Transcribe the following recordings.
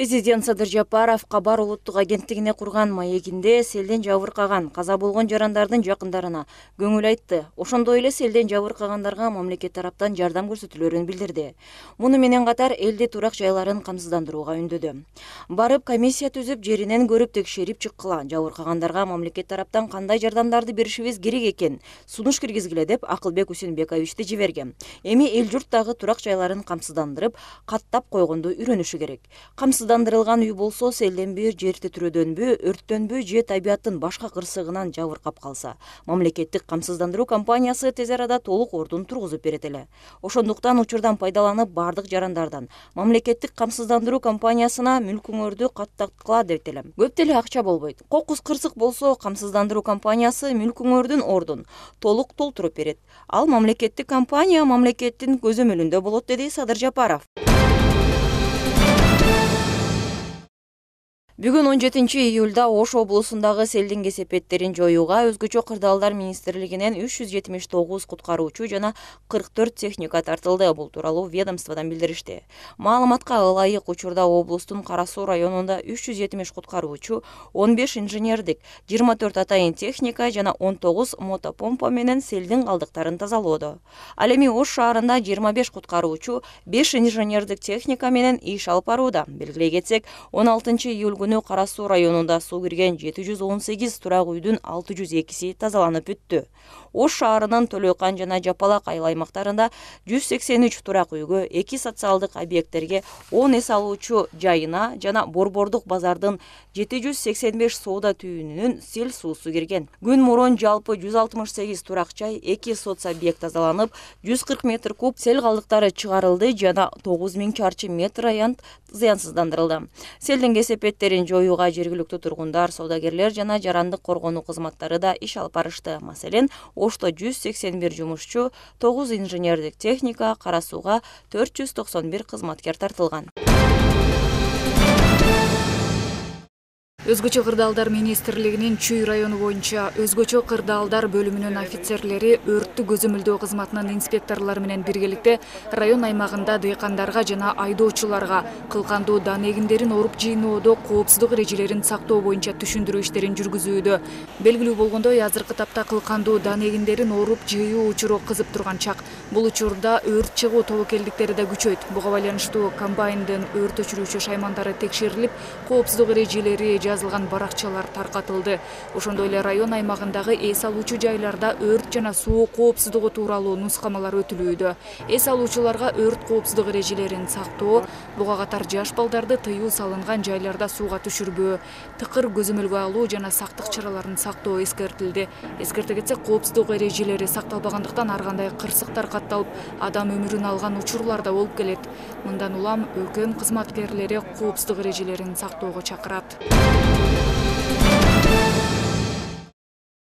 Президент Садыр Жапаров Кабар улуттук агенттигине курган маегинде селден жабыркаган, каза болгон жарандардын жакындарына көңүл айтты. Ошондой эле селден жабыркагандарга мамлекет тараптан жардам көрсөтүлөрүн билдирди. Муну менен катар элди турак жайларын камсыздандырууга үндөдү. Барып комиссия түзүп, жеринен көрүп текшерип чыккыла. Жабыркагандарга мамлекет тараптан кандай жардамдарды беришибиз керек экен сунуш киргизгиле деп Акылбек Усенбековичти жиберген. Эми эл журт дагы турак жайларын камсыздандырып, каттап койгонду үйрөнүшү керек. Камсыздандырылган үй болсо селденби, жер титирөөдөнбү, өрттөнбү же табияттын башка кырсыгынан жабыркап калса, мамлекеттик камсыздандыруу компаниясы тез арада толук ордун тургузуп берет эле. Ошондуктан учурдан пайдаланып бардык жарандардан мамлекеттик камсыздандыруу компаниясына мүлкүңөрдү каттаткыла дейт элем. Көп деле акча болбойт. Кокус кырсык болсо камсыздандыруу компаниясы мүлкүңөрдүн ордун толук толтуруп берет. Ал мамлекеттик компания мамлекеттин көзөмөлүндө болот, деди Садыр Жапаров. Бүгүн 17-июлда Ош облусундагы селдин кесепеттерин жоюуга Өзгөчө кырдаалдар министрлигинен 379 куткаруучу жана 44 техника тартылды. Бул тууралуу ведомстводон билдиришти. Маалыматка ылайык, учурда облустун Кара Суу районунда 370 куткаруучу, 15 инженердик, 24 атайын техника жана 19 мотопомпа менен селдин калдыктарын тазалоодо. Ал эми Ош шаарында 25 куткаруучу, 5 инженердик техника менен иш алып барууда. Белгилей кетсек, 16-июль күнү Кара Суу районунда суу кирген 718 турак үйдүн 602си тазаланып бүттү. Ош шаарынын Төлөкан жана Жапалак айыл аймактарында 183 турак үйгө, 2 социалдык объекттерге, 10 эс алуучу жайына жана Борбордук базардын 785 соода түйүнүнүн сел суусу кирген. Күн мурун жалпы 168 турак жай, 2 соцобъект тазаланып, 140 метр куб сел калдыктары чыгарылды жана 9000 чарчы метр аянт зыянсыздандырылды. Селдин кесепеттерин жоюуга жергиликтүү тургундар, соодагерлер жана жарандык коргонуу кызматтары да иш алып барышты. Маселен, Ошто 181 жумушчу, 9 инженердик техника, Кара Сууга 491 кызматкер тартылган. Өзгөчө кырдаалдар министрлигинин Чүй району боюнча Өзгөчө кырдаалдар бөлүмүнүн офицерлери өрттү көзөмөлдөө кызматынын инспекторлору менен биргеликте район аймагында дыйкандарга жана айдоочуларга кылкандуу дан эгиндерин оруп жыйноодо коопсуздук эрежелерин сактоо боюнча түшүндүрүү иштерин жүргүзүүдө. Белгилүү болгондой, азыркы тапта кылкандуу дан эгиндерин оруп жыйуу учуру кызып турган чак. Бул учурда өрт чыгуу тобокелдиктери да күчөйт. Буга байланыштуу комбайндын өрт өчүрүүчү шаймандары текшерилип, коопсуздук эрежелери жазылган баракчалар таркатылды. Ошондой эле район аймагындагы эс алуучу жайларда өрт жана суу коопсуздугу тууралуу нускамалар өтүлүүдө. Эс алуучуларга өрт коопсуздук эрежелерин сактоо, буга катар жаш балдарды тыюу салынган жайларда сууга түшүрбөө, тыкыр көзөмөлгө алуу жана сактык чараларын сактоо эскертилди. Эскерте кетсек, коопсуздук эрежелери сакталбагандыктан ар кандай кырсыктар катталып, адам өмүрүн алган учурлар да болуп келет. Мындан улам ӨКМ кызматкерлери коопсуздук эрежелерин сактоого чакырат.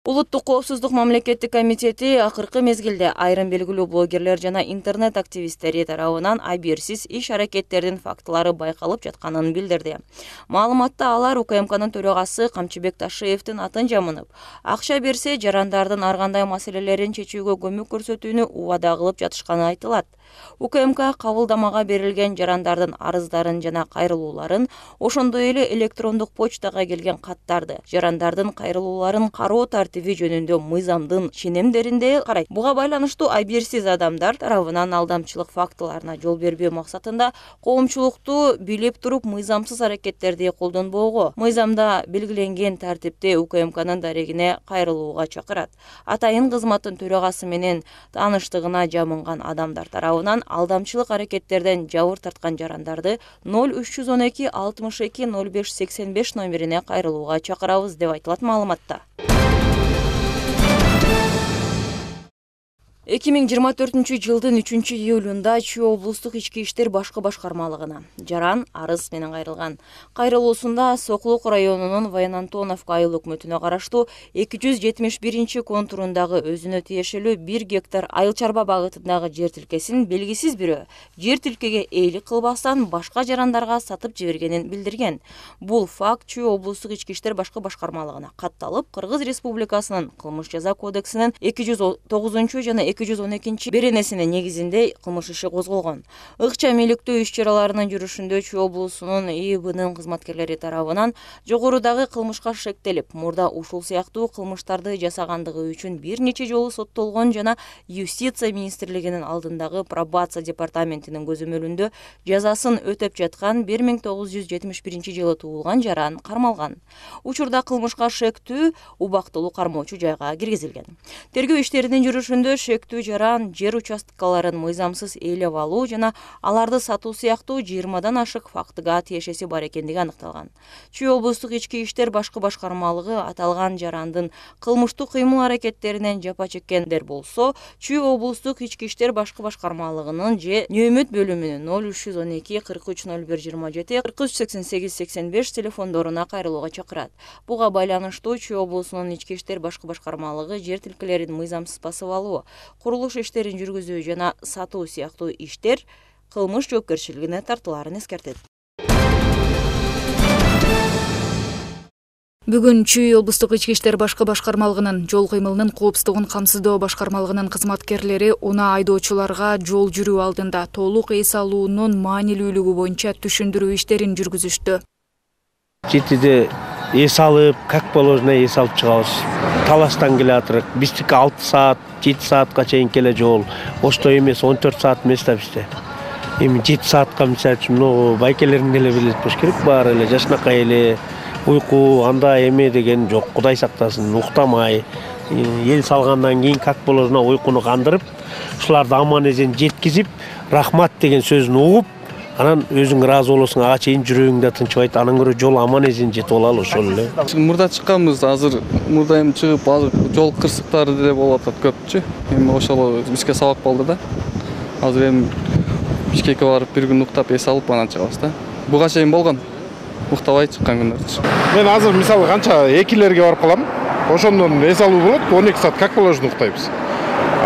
Улуттук коопсуздук мамлекеттик комитети акыркы мезгилде айрым белгилүү блогерлер жана интернет активисттери тарабынан абийирсиз иш-аракеттердин фактылары байкалып жатканын билдирди. Маалыматта алар УКМКнын төрагасы Камчыбек Ташиевдин атын жамынып, акча берсе жарандардын ар кандай маселелерин чечүүгө көмөк көрсөтүүнү убада кылып жатышканы айтылат. УКМК кабылдамага берилген жарандардын арыздарын жана кайрылууларын, ошондой эле электрондук почтага келген каттарды, жарандардын кайрылууларын кароо тартиби жөнүндө мыйзамдын ченемдеринде карайт. Буга байланыштуу абийирсиз адамдар тарабынан алдамчылык фактыларына жол бербөө максатында коомчулукту билип туруп мыйзамсыз аракеттерди колдонбоого, мыйзамда белгиленген тартипте УКМКнын дарегине кайрылууга чакырат. Атайын кызматтын төрагасы менен тааныштыгына жамынган адамдар тарабынан алдамчылык аракеттерден жабыр тарткан жарандарды 0312 62 05 85 номерине кайрылууга чакырабыз деп айтылат маалыматта. 2024-жылдын 3-июлунда Чүй облустук ички иштер башкы башкармалыгына жаран арыз менен кайрылган. Кайрылуусунда Сокулук районунун Военантоновка айыл өкмөтүнө караштуу 271 контурундагы өзүнө тиешелүү 1 гектар айыл чарба багытындагы жер тилкесин белгисиз бирөө жер тилкеге ээлик кылбастан башка жарандарга сатып жибергенин билдирген. Бул факт Чүй облустук ички иштер башкы башкармалыгына катталып, Кыргыз Республикасынын кылмыш жаза кодексинин 209 жана 212 беренесине негизинде кылмыш иши козголгон. Ыкча миликтөө иш-чараларынын жүрүшүндө Чүй облусунун ИИБнын кызматкерлери тарабынан жогорудагы кылмышка шектелип, мурда ушул сыяктуу кылмыштарды жасагандыгы үчүн бир нече жолу соттолгон жана Юстиция министрлигинин алдындагы пробация департаментинин көзөмөлүндө жазасын өтөп жаткан 1971-жылы туулган жаран кармалган. Учурда кылмышка шектүү убактылуу кармоочу жайга киргизилген. Тергөө иштеринин жүрүшүндө шектүү жаран жер участкаларын мыйзамсыз ээлеп алуу жана аларды сатуу сыяктуу 20дан ашык фактыга тиешеси бар экендиги аныкталган. Чүй облустук ички иштер башкы башкармалыгы аталган жарандын кылмыштык кыймыл-аракеттеринен жапа чеккендер болсо, Чүй облустук ички иштер башкы башкармалыгынын же Нөөмөт бөлүмүнүн 0312 43 01 27 43 88 85 телефондоруна кайрылууга чакырат. Буга байланыштуу Чүй облусунун ички иштер башкы башкармалыгы жер тилкелерин мыйзамсыз басып алуу, курулуш иштерин жүргүзүү жана сатуу сыяктуу иштер кылмыш жоопкерчилигине тартылаарын эскертет. Бүгүн Чүй облустук ички иштер башкы башкармалыгынын жол кыймылынын коопсуздугун камсыздоо башкармалыгынын кызматкерлери унаа айдоочуларга жол жүрүү алдында толук эс алуунун маанилүүлүгү боюнча түшүндүрүү иштерин жүргүзүштү. Жетиде эс алып, как положено эс алып чыгабыз. Талаштан келатырык. Биздики 6 саат, 7 саатка чейин келе жол. Ошто эмес 14 саат эмес да бизде. Эми 7 саатка мисалы үчүн байкелерин деле билет болуш керек, баары эле жашынакай эле. Уйку анда эме деген жок, Кудай сактасын, уктамай, эл салгандан кийин как положено уйкуну кандырып, ушуларды аман эсен жеткизип, рахмат деген сөзүн угуп, анан өзүң ыраазы болосуң, ага чейин жүрөгүңдө тынчыбайт, анан көрө жол аман эсен жетип алалы ошол эле. Мурда чыкканбыз, азыр мурда эми чыгып, азыр жол кырсыктары деле болуп атат көпчү. Эми ошол бизге сабак болду да. Азыр эми Бишкекке барып бир күн уктап эс алып анан чыгабыз да. Буга чейин болгон. Уктабай чыккан күндөрчү. Мен азыр мисалы канча экилерге барып калам. Ошондон эс алуу болот, 12 саат как положено уктайбыз.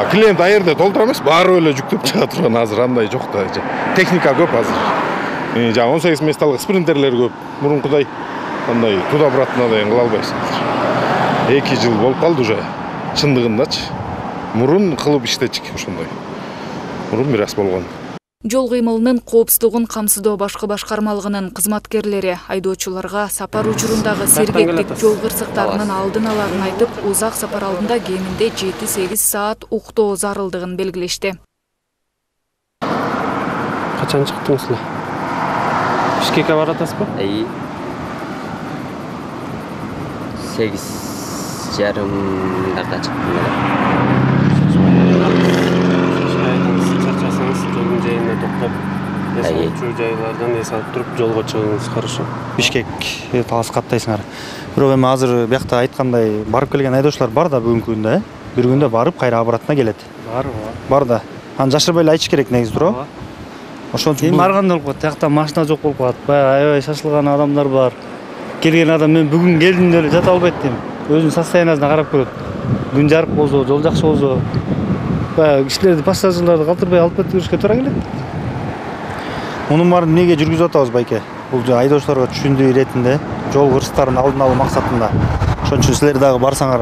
Клиент аерде толтура эмес, баары эле жүктөп чыга турган азыр андай жок да. Техника көп азыр. Жана 18 месталык спринтерлер көп. Мурункудай андай туда-обратно деген кыла албайсың. 2 жыл болуп калды уже. Чындыгындачы. Мурун кылып иштечик ошондой. Мурун бир аз болгон. Жол кыймылынын коопсуздугун камсыздоо башкы башкармалыгынын кызматкерлери айдоочуларга сапар учурундагы сергектик жол кырсыктарынын алдын аларын айтып, узак сапар алдында кеминде 7-8 саат уктоо зарылдыгын белгилешти. Качан чыктыңыздар? Бишкекке баратасызбы? 8:30 чыктым. Жолдун жайына токтоп, эс алуучу жайлардан эс алып туруп жолго чыгыңыз, хорошо. Бишкек талас каттайсыңар. Бирок эми азыр биякта айткандай барып келген айдоочулар бар да бүгүнкү күндө, бир күндө барып кайра обратно келет. Бар да. Аны жашырбай эле айтыш керек негизи туурабы? Ошон үчүн барганда болуп калат. Тиякта машина жок болуп калат. Баягы аябай шашылган адамдар бар. Келген адам мен бүгүн келдим деп эле жата албайт дейм. Өзүнүн состояниясына карап көрөт. Күн жарык болсо, жол жакшы болсо, баягы кишилерди, пассажирлерди калтырбай алып кетишке туура келет. мунун баарын эмнеге жүргүзүп атабыз байке? Бул айдоочуларга түшүндүү иретинде, жол кырсыктарын алдын алуу максатында. Ошон үчүн силер дагы барсаңар,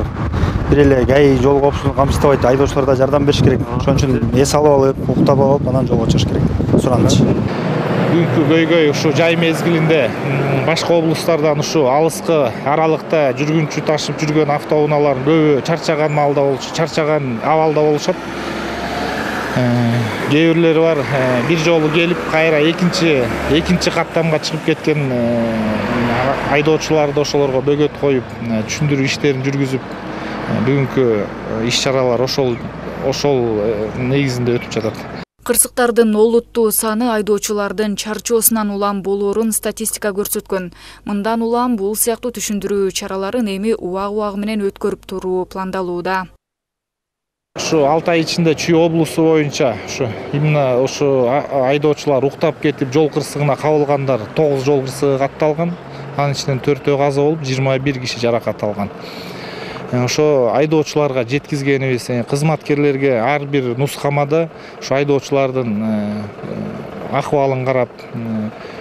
бир эле ГАИ жол коопсуздугун камсыздабайт, айдоочулар да жардам бериш керек. Ошон үчүн эс алып алып, уктап алып, анан жолго чыгыш керек. Сураныч. Бүгүнкү көйгөй ушу жай мезгилинде башка облустардан ушу алыскы аралыкта жүргүнчү ташып жүргөн автоунаалардын көбү чарчаган абалда болушат. Кээ бирлери бар, бир жолу келип кайра экинчи каттамга чыгып кеткен айдоочуларды ошолорго бөгөт коюп, түшүндүрүү иштерин жүргүзүп, бүгүнкү иш-чаралар ошол негизинде өтүп жатат. Кырсыктардын олуттуу саны айдоочулардын чарчоосунан улам болоорун статистика көрсөткөн. Мындан улам бул сыяктуу түшүндүрүү чараларын эми убак менен өткөрүп туруу пландалууда. Ушу 6 ай ичинде Чүй облусу боюнча именно ушу айдоочулар уктап кетип жол кырсыгына кабылгандар 9 жол кырсыгы катталган. Анын ичинен 4 каза болуп, 21 киши жаракат алган. Ошо айдоочуларга жеткизгенибиз, кызматкерлерге ар бир нускамада ушу айдоочулардын акыбалын карап,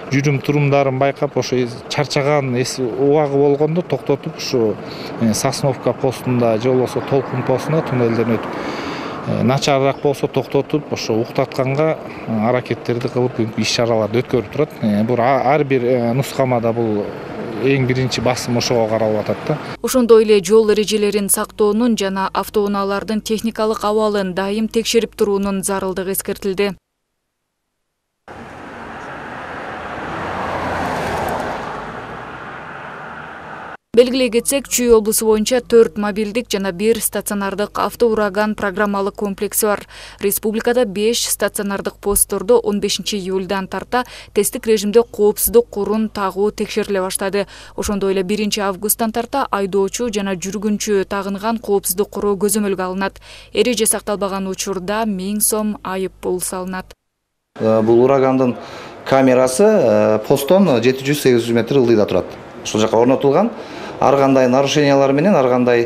жүрүм турумдарын байкап, ошо чарчаган убагы болгондо токтотуп, ушу Сосновка постунда же болбосо Толкун постунда туннелден өтүп начарыраак болсо токтотуп ошо уктатканга аракеттерди кылып иш чараларды өткөрүп турат. Бул ар бир нускамада бул эң биринчи басым ошого каралып атат да. Ошондой эле жол эрежелерин сактоонун жана автоунаалардын техникалык абалын дайым текшерип туруунун зарылдыгы эскертилди. Белгилей кетсек, Чүй облусу боюнча 4 мобилдик жана 1 стационардык автоураган программалык комплекси бар. Республикада 5 стационардык посттордо 15 июльдан тарта тесттик режимде коопсуздук курун тагуу текшериле баштады. Ошондой эле 1 августтан тарта айдоочу жана жүргүнчү тагынган коопсуздук куру көзөмөлгө алынат. Эреже сакталбаган учурда 1000 сом айып пул салынат. Бул урагандын камерасы посттон 700-800 метр ылдыйда турат. Ошол жака орнотулган. Ар кандай нарушениялар менен, ар кандай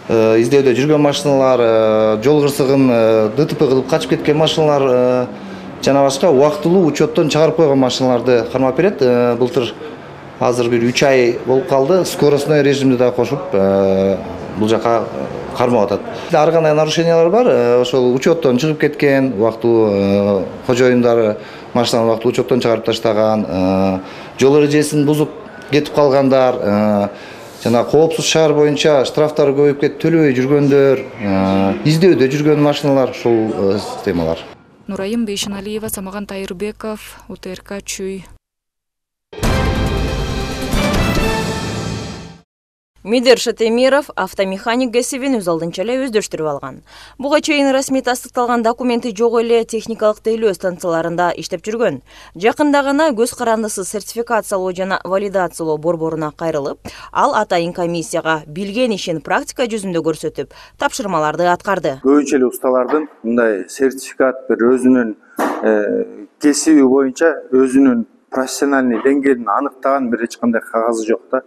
издөөдө жүргөн машиналар, жол кырсыгын ДТП кылып качып кеткен машиналар жана башка убактылуу учеттон чыгарып койгон машиналарды кармап берет. Былтыр азыр бир 3 ай болуп калды. Скоростной режимди да кошуп бул жака кармап атат. Ар кандай нарушениялар бар. Ошол учеттон чыгып кеткен, убактылуу кожоюндары машинаны убактылуу учеттон чыгарып таштаган, жол эрежесин бузуп кетип калгандар, жана коопсуз шаар боюнча штрафтар көбөйүп кетип төлөбөй жүргөндөр, издөөдө жүргөн машиналар, ушул системалар. Нурайым Бейшеналиева, Самаган Тайырбеков, УТРК Чүй. Мидер Шатемиров автомеханик кесибин өз алдынча эле өздөштүрүп алган. Буга чейин расмий тастыкталган документи жок эле техникалык тейлөө станцияларында иштеп жүргөн. Жакында гана көз карандысыз сертификациялоо жана валидациялоо борборуна кайрылып, ал атайын комиссияга билген ишин практика жүзүндө көрсөтүп, тапшырмаларды аткарды. Көбүнчө эле усталардын мындай сертификат бир өзүнүн кесиби боюнча өзүнүн профессиональный деңгээлин аныктаган бир эч кандай кагазы жок да.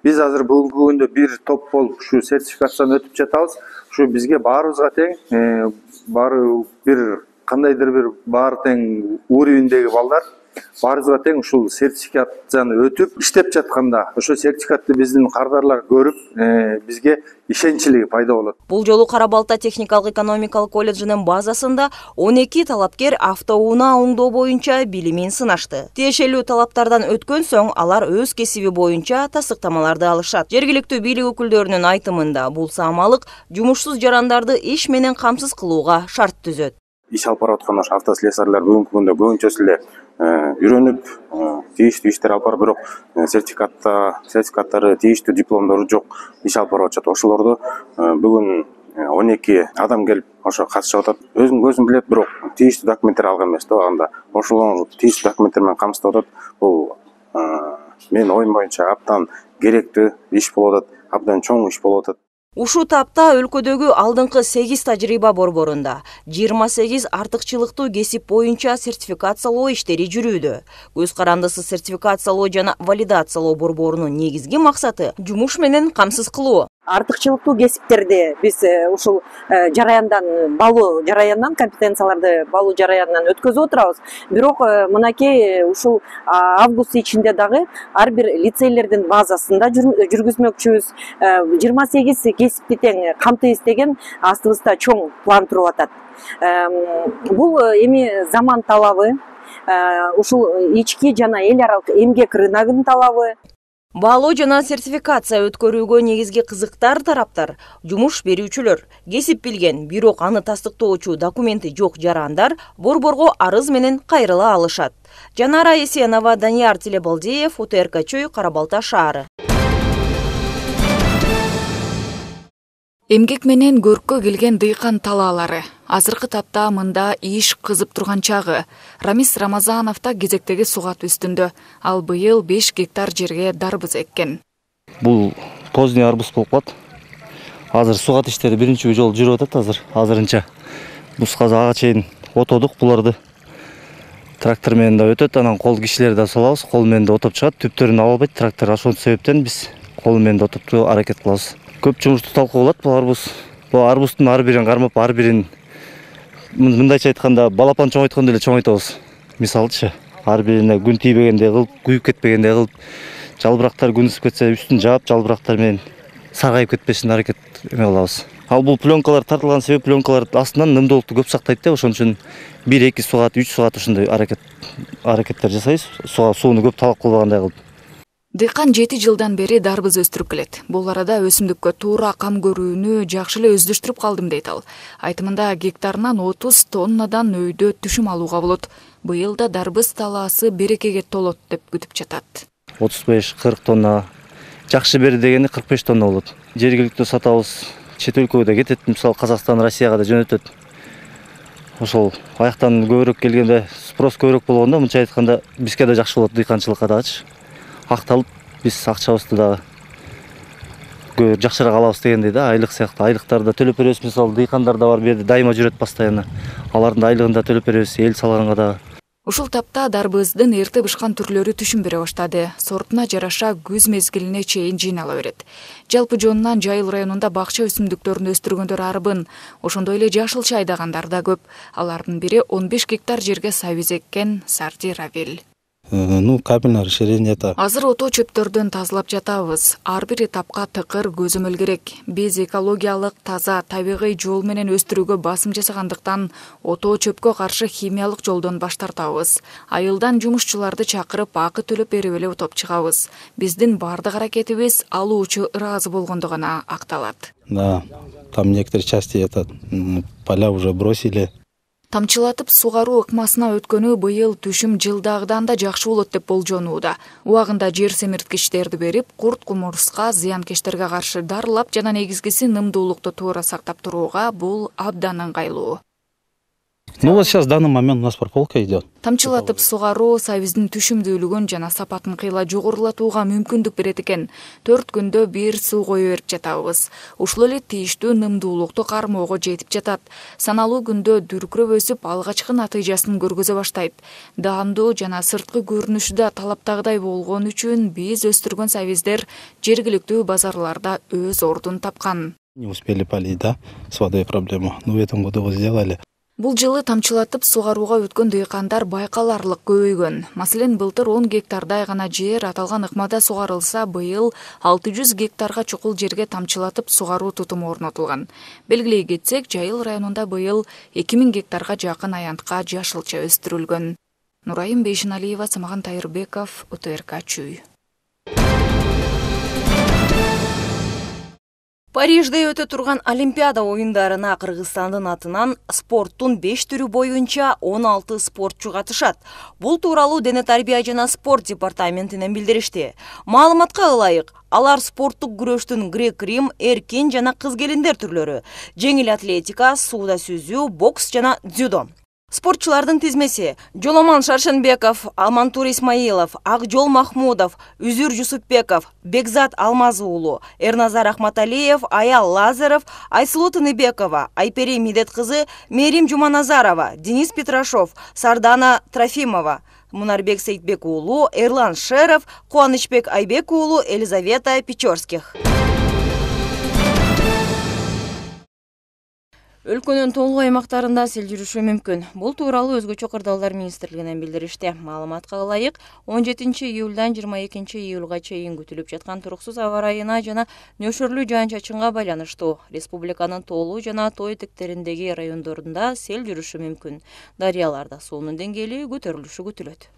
Биз азыр бүгүнкү күндө бир топ болуп ушу сертификациядан өтүп жатабыз. Ушу бизге баарыбызга тең, баары бир кандайдыр бир баары тең уровендеги балдар баарыбызга тең ушул сертификацияны өтүп иштеп жатканда ошо сертификатты биздин кардарлар көрүп, бизге ишенчилиги пайда болот. Бул жолу Кара Балта техникалык экономикалык колледжинин базасында 12 талапкер автоунаа оңдоо боюнча билимин сынашты. Тиешелүү талаптардан өткөн соң алар өз кесиби боюнча тастыктамаларды алышат. Жергиликтүү бийлик өкүлдөрүнүн айтымында бул саамалык жумушсуз жарандарды иш менен камсыз кылууга шарт түзөт. Иш алып бараткан автослесарлар бүгүнкү күндө көбүнчөсү эле үйрөнүп, тийиштүү иштер алып барып, бирок сертификаттары, тийиштүү дипломдору жок иш алып барып атышат. Ошолорду бүгүн 12 адам келип ошо катышып атат. Өзүм көзүм билет, бирок тийиштүү документтер алган эмес да анда. Ошолорду тийиштүү документтер менен камсыздап атат. Бул менин оюм боюнча абдан керектүү иш болуп атат, абдан чоң иш болуп атат. Ушул тапта өлкөдөгү алдыңкы 8 тажрыйба борборунда 28 артыкчылыктуу кесип боюнча сертификациялоо иштери жүрүүдө. Көз карандысыз сертификациялоо жана валидациялоо борборунун негизги максаты жумуш менен камсыз кылуу. Артыкчылыктуу кесиптерди биз ушул балуу жараяндан, компетенцияларды балуу жараяндан өткөзүп отурабыз. Бирок мынакей ушул август ичинде дагы ар бир лицейлердин базасында жүргүзмөкчүбүз. 28 кесипти тең камтыйбыз деген астыбызда чоң план туруп атат. Бул эми заман талабы, ушул ички жана эл аралык эмгек рыногунун талабы. Баалоо жана сертификация өткөрүүгө негизги кызыктар тараптар жумуш берүүчүлөр, кесип билген, бирок аны тастыктоочу документи жок жарандар борборго арыз менен кайрыла алышат. Жанара Есенова, Данияр Телебалдиев, УТРК Чүй, Кара Балта шаары. Эмгек менен көрккө келген дыйкан талаалары. Азыркы тапта мында иш кызып турган чагы. Рамис Рамазанов да кезектеги сугат үстүндө. Ал быйыл 5 гектар жерге дарбыз эккен. Бул поздний арбуз болуп калат. Азыр сугат иштери биринчи жолу жүрүп атат азырынча. Бус ага чейин отодук буларды. Трактор менен да өтөт, анан кол кишилерди да салабыз, кол менен да отоп чыгат. Түптөрүн ала албайт трактор, ошол себептен биз кол менен да отоптурууга аракет кылабыз. Көп жумушту талкуулап бул арбуз. Бул арбуздун ар бирин кармап, ар бирин мындайча айтканда балапан чоңойткондой эле чоңойтабыз. Мисалычы, ар бирине күн тийбегендей кылып, күйүп кетпегендей кылып, жалбырактар күн ысып кетсе үстүн жаап, жалбырактар менен саргайып кетпесин аракет эме кылабыз. Ал бул пленкалар тартылган себеп пленкалар астынан нымдуулукту көп сактайт да, ошон үчүн 1-2 саат, 3 саат ошондой аракеттер жасайбыз. Сууну көп талап кылбагандай кылып. Дыйкан 7 жылдан бери дарбыз өстүрүп келет. Бул арада өсүмдүккө туура кам көрүүнү жакшы эле өздөштүрүп калдым дейт ал. Айтымында гектарынан 30 тоннадан өйдө түшүм алууга болот. Быйыл да дарбыз талаасы берекеге толот деп күтүп жатат. 35-40 тонна, жакшы бери дегени 45 тонна болот. Жергиликтүү сатабыз, чет өлкөгө да кетет, мисалы Казакстан, Россияга да жөнөтөт. Ошол аяктан көбүрөөк келгенде, спрос көбүрөөк болгондо, мынча айтканда, бизге да жакшы болот, дыйканчылыкка дагычы. Акталып, биз акчабызды дагы жакшыраак алабыз дегендей да, айлык сыяктуу айлыктарды төлөп беребиз. Мисалы дыйкандар да бар, бу жерде дайыма жүрөт постоянно. Алардын айлыгын да төлөп беребиз, эл салганга дагы. Ушул тапта дарбыздын эрте бышкан түрлөрү түшүм бере баштады. Сортуна жараша күз мезгилине чейин жыйнала берет. Жалпы жонунан Жайыл районунда бакча өсүмдүктөрүн өстүргөндөр арбын. Ошондой эле жашылча айдагандар да көп. Алардын бири 15 гектар жерге сабиз эккен Сарди Равил. Капельное расширение это. Азыр ото чөптөрдөн тазалап жатабыз. Ар бир этапка тыкыр көзөмөл керек. Биз экологиялык, таза, табигый жол менен өстүрүүгө басым жасагандыктан ото чөпкө каршы химиялык жолдон баш тартабыз. Айылдан жумушчуларды чакырып, акы төлөп берип эле утуп чыгабыз. Биздин бардык аракетибиз алуучу ыраазы болгондо гана акталат. Да, там некоторые части поля уже бросили. Тамчылатып сугаруу ыкмасына өткөнү быйыл түшүм жылдагыдан да жакшы болот деп болжонууда. Убагында жер семирткичтерди берип, курт кумурска, зыянкечтерге каршы дарылап жана негизгиси нымдуулукту туура сактап турууга бул абдан ыңгайлуу. Вот сейчас в данный момент у нас прополка идет. Тамчылатып сугаруу сабиздин түшүмдүүлүгүн жана сапатын кыйла жогорулатууга мүмкүндүк берет экен. 4 күндө бир суу кое берип жатабыз. Ушул эле тийиштүү нымдуулукту кармоого жетип жатат. Саналуу күндө дүркүрөп өсүп, алгачкы натыйжасын көргөзө баштайт. Даамдуу жана сырткы көрүнүшү да талаптагыдай болгон үчүн биз өстүргөн сабиздер жергиликтүү базарларда өз ордун тапкан. Не успели полить, да, с водой проблема. Но в этом году вот сделали. Бул жылы тамчылатып сугарууга өткөн дыйкандар байкаларлык көбөйгөн. Маселен, былтыр 10 гектардай гана жер аталган ыкмада сугарылса, быйыл 600 гектарга чукул жерге тамчылатып сугаруу тутуму орнотулган. Белгилей кетсек, Жайыл районунда быйыл 2000 гектарга жакын аянтка жашылча өстүрүлгөн. Нурайым Бейшиналиева, Самаган Тайырбеков, УТРК Чүй. Парижде өтө турган Олимпиада оюндарына Кыргызстандын атынан спорттун 5 түрү боюнча 16 спортчу катышат. Бул тууралуу Дене тарбия жана спорт департаментинен билдиришти. Маалыматка ылайык, алар спорттук күрөштүн грек-рим, эркин жана кыз-келиндер түрлөрү, жеңил атлетика, сууда сүзүү, бокс жана дзюдо. Спортчулардын тизмеси: Жоломан Шаршенбеков, Алмантур Исмаилов, Акжол Махмудов, Үзүр Жусупбеков, Бекзат Алмазуулу, Эрназар Ахматалиев, Аял Лазаров, Айсулуу Тыныбекова, Айпери Медет кызы, Мерим Жуманазарова, Денис Петрашов, Сардана Трофимова, Мунарбек Сейтбек уулу, Эрлан Шеров, Кубанычбек Айбек уулу, Елизавета Печорских. Өлкөнүн толук аймактарында сел жүрүшү мүмкүн. Бул тууралуу Өзгөчө кырдаалдар министрлигинен билдиришти. Маалыматка ылайык, 17 июлдан 22 июлга чейин күтүлүп жаткан туруксуз аба ырайына жана нөшөрлүү жаан-чачынга байланыштуу республиканын тоолуу жана тоо этектериндеги райондорунда сел жүрүшү мүмкүн. Дарыяларда суунун деңгээли көтөрүлүшү күтүлөт.